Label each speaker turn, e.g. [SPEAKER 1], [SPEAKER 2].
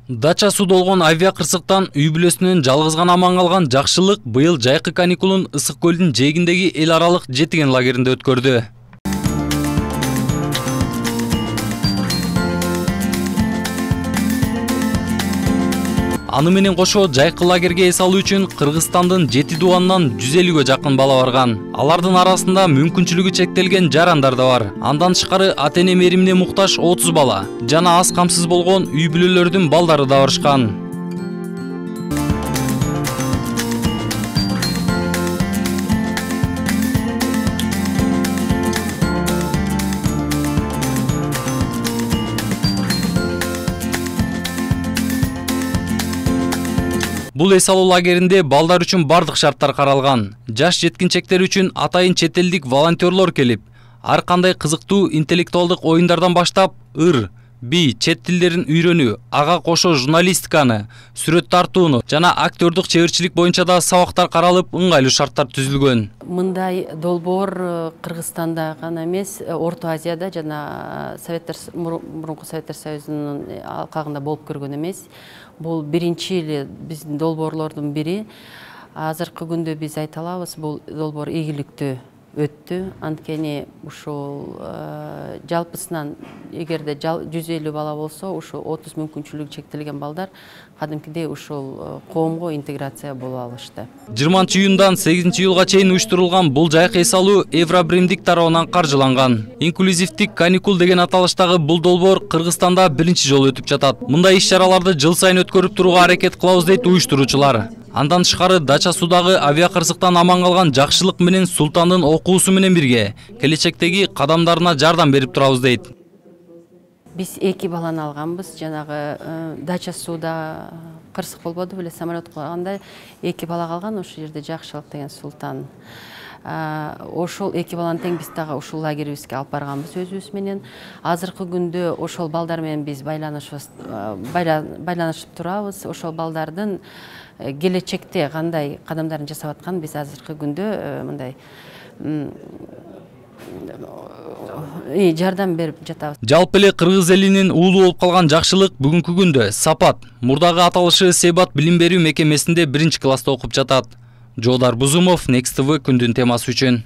[SPEAKER 1] Дача судолгон авиа кырсыктан үй бүлөсүнөн жалгыз гана аман калган Жакшылык быйыл жайкы каникулун Ысык көлдүн жээгиндеги эл аралык жетиген лагеринде өткөрдү. Аны менен кошо жайкы лагерге эс алуу үчүн Кыргызстандын 7 дубанынан 150гө жакын бала барган. Алардын арасында мүмкүнчүлүгү чектелген жарандар да бар. Андан тышкары ата-эне меримине муктаж 30 бала жана аз камсыз болгон үй бүлөлөрдүн балдары да барышкан. Бул эс алуу лагеринде балдар үчүн бардык шарттар каралган. Жаш жеткинчектер үчүн атайын чет элдик волонтерлор келип, ар кандай кызыктуу интеллектуалдык оюндардан баштап ыр, би, чет тилдерин үйрөнүү, ага кошо журналистиканы, сүрөт тартууну жана актёрдук чеберчилик боюнча да сабактар каралып, ыңгайлуу шарттар түзүлгөн.
[SPEAKER 2] Мындай долбоор Кыргызстанда гана эмес, Орто Азияда жана мурунку Советтер Союзунун алкагында болуп көргөн эмес. Бул биринчи эле биздин долбоорлордун бири. Азыркы күндө биз айта алабыз, бул долбоор ийгиликтүү өттү. Анткени ушул жалпысынан эгерде 150 бала болсо, ушул 30 мүмкүнчүлүгү чектелген балдар кадимкидей ушул коомго интеграция боло алышты. 20-июндан 8-июлга чейин уюштурулган бул жайкы эс алуу Евробримдик тарабынан каржыланган. Инклюзивдик каникул деген аталыштагы бул долбоор Кыргызстанда биринчи жолу өтүп жатат. Мындай иш-чараларды жыл сайын өткөрүп турууга аракет кылабыз дейт уюштуруучулар. Андан тышкары Дача судагы авиа кырсыктан аман калган Жакшылык менен Султандын окуусу менен бирге келечектеги кадамдарына жардам берип турабыз дейт. Биз 2 баланы алганбыз. Жанагы Дача суда кырсык болбоду беле, самолет кылганда 2 бала калган, ошол жерде Жакшылык деген Султан. Ошол 2 баланы тең биз дагы ушул лагерибизге алып барганбыз өзүбүз менен. Азыркы күндө ошол балдар менен биз байланышып турабыз. Ошол балдардын келечекте кандай кадамдарын жасап атканын биз азыркы күндө мындай жардам берип жатабыз.
[SPEAKER 1] Жалпы эле кыргыз элинин уулу болуп калган Жакшылык бүгүнкү күндө Сапат, мурдагы аталышы Себат билим берүү мекемесинде 1-класста окуп жатат. Жоодар Бузумов, Next TV күндүн темасы үчүн.